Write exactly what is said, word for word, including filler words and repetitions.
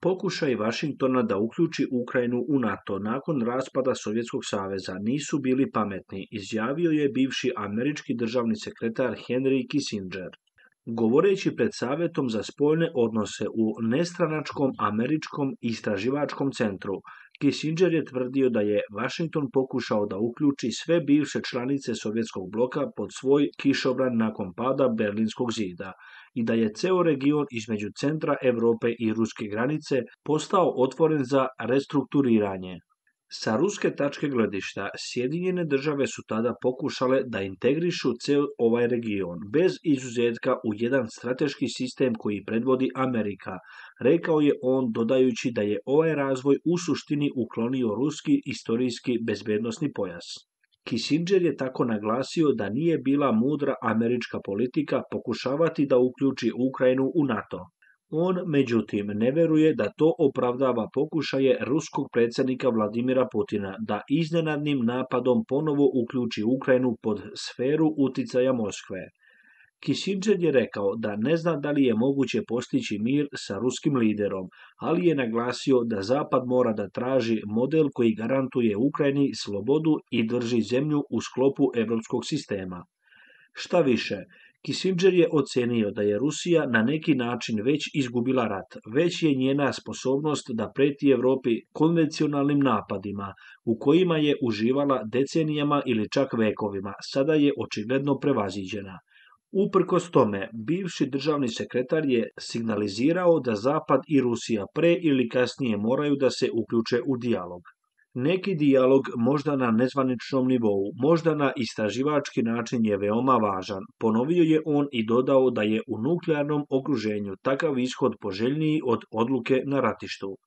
Pokušaj Vašingtona da uključi Ukrajinu u NATO nakon raspada Sovjetskog saveza nisu bili pametni, izjavio je bivši američki državni sekretar Henry Kissinger. Govoreći pred Savjetom za spoljne odnose u nestranačkom američkom istraživačkom centru, Kissinger je tvrdio da je Washington pokušao da uključi sve bivše članice Sovjetskog bloka pod svoj kišobran nakon pada Berlinskog zida i da je ceo region između centra Europe i ruske granice postao otvoren za restrukturiranje. Sa ruske tačke gledišta, Sjedinjene države su tada pokušale da integrišu ceo ovaj region, bez izuzetka u jedan strateški sistem koji predvodi Amerika, rekao je on dodajući da je ovaj razvoj u suštini uklonio ruski istorijski bezbednosni pojas. Kissinger je tako naglasio da nije bila mudra američka politika pokušavati da uključi Ukrajinu u NATO. On, međutim, ne veruje da to opravdava pokušaje ruskog predsjednika Vladimira Putina da iznenadnim napadom ponovo uključi Ukrajinu pod sferu uticaja Moskve. Kissinger je rekao da ne zna da li je moguće postići mir sa ruskim liderom, ali je naglasio da Zapad mora da traži model koji garantuje Ukrajini slobodu i drži zemlju u sklopu evropskog sistema. Šta više, Kissinger je ocenio da je Rusija na neki način već izgubila rat, već je njena sposobnost da preti Evropi konvencionalnim napadima, u kojima je uživala decenijama ili čak vekovima, sada je očigledno prevaziđena. Uprkos tome, bivši državni sekretar je signalizirao da Zapad i Rusija pre ili kasnije moraju da se uključe u dijalog. Neki dijalog, možda na nezvaničnom nivou, možda na istraživački način je veoma važan, ponovio je on i dodao da je u nuklearnom okruženju takav ishod poželjniji od odluke na ratištu.